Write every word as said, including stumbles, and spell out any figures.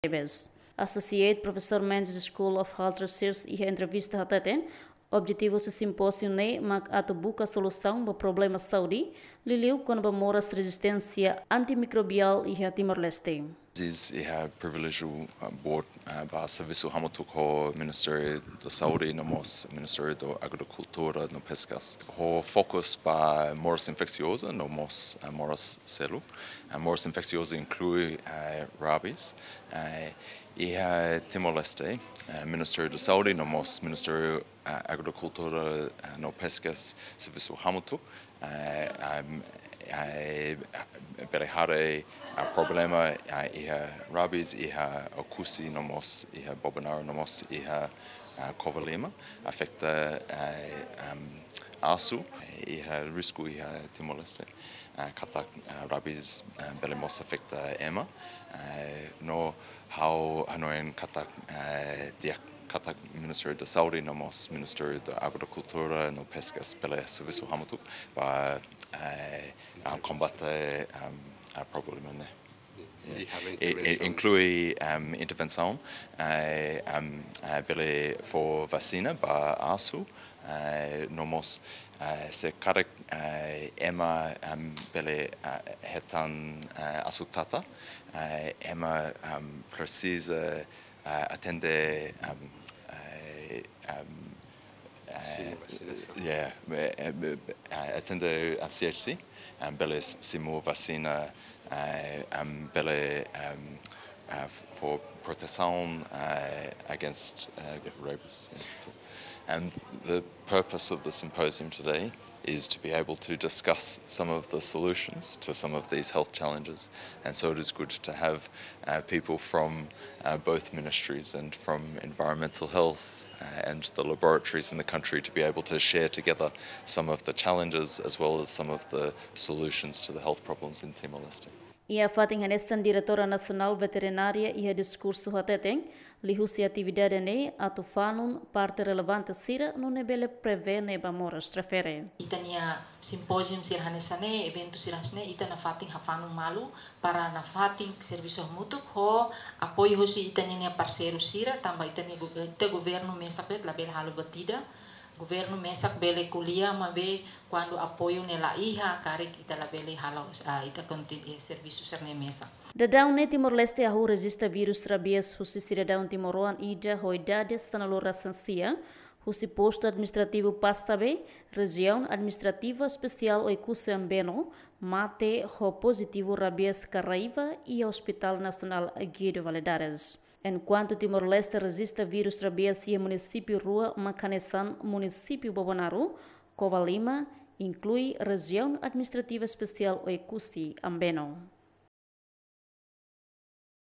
Tebes. Associate Professor Mendes School of Health Research iha entrevista hateten, objetivu husi simpóziu ne'e mak atu buka solusaun ba problema saúde, liuliu kona-ba moras rezisténsia antimikrobiál iha Timor-Leste. Is iha priviléjiu, uh, boot, uh, ba servisu hamutuk ho Ministériu da Saúde no mós Ministériu da Agrikultura no Peskas. Ho fokus ba moras infeksioza no mós, uh, moras seluk. Uh, moras infeksioza inklui, uh, rabies. Uh, iha Timor-Leste, uh, Ministériu da Saúde no mós Ministériu, uh, Agrikultura, uh, no Peskas servisu hamutuk. Eh, am, eh, bele haree, ah, problema, ah, iha rabies, iha Oekusi no mós, iha Bobonaro no mós, iha, ah, Covalima, afeta, eh, am, asu, iha risku iha Timor-Leste. Ah, katak, ah, rabies, ah, bele mós afeta ema. Eh, no ha'u hanoin katak, eh, di'ak katak Ministériu da Saúde no mós Ministériu da Agrikultura no Peskas bele servisu hamutuk ba, eh, ah, kombate, em, ah, problema ne'e. Iha intervensaun. Inklui, em, intervensaun, eh, em, eh, bele fó vasina ba asu, eh, no mós, eh, se karik, eh, ema, em, bele, eh, hetan, eh, asu tata, eh, ema, em, presiza, eh, atende, em, eh, em, eh, Simu vasinasaun. Yeah, eh, eh, eh, atende, em, C H C, em, bele s-, simu vasina, eh, em, bele, em, eh, f-, fó protesaun, eh, against, eh, rabies. Yeah. And the purpose of the symposium today is to be able to discuss some of the solutions to some of these health challenges. And so it is good to have, uh, people from, uh, both ministries and from environmental health, uh, and the laboratories in the country to be able to share together some of the challenges as well as some of the solutions to the health problems in Timor-Leste. Iha fatin hanesan, Diretora Nasionál Veterinária iha diskursu hateten, liuhusi atividade ne'e atu fanun parte relevante sira nune'e bele prevene ba moras refere. Ita-nia simpóziu sira hanesan ne'e, eventu sira hanesan ne'e, ita nafatin hafanun malu para nafatin servisu hamutuk ho apoiu husi ita-nia parseiru sira, tanba ita-nia go-, ita governu mesak de'it labele halo buat ida. Governu mesak bele ko'alia, maibé kuandu apoiu ne'e la iha, karik ita labele halo, ah, ita kontin-, eh, servisu sira-ne'e mesak. Daudaun ne'e Timor-Leste hahú rejista vírus rabies husi sidadaun timoroan ida ho idade sanulu-resin-sia, husi Postu Administrativu Pastabe, Rejiaun Administrativa Espesiál Oekusi Ambeno, mate ho pozitivu rabies Caraíva iha Hospital Nasionál Guido Valadares. Enkuantu Timor-Leste rejista vírus rabies iha munisípiu rua mak hanesan munisípiu Bobonaro, Covalima, inklui Rejiaun Administrativa Espesiál Oekusi Ambeno.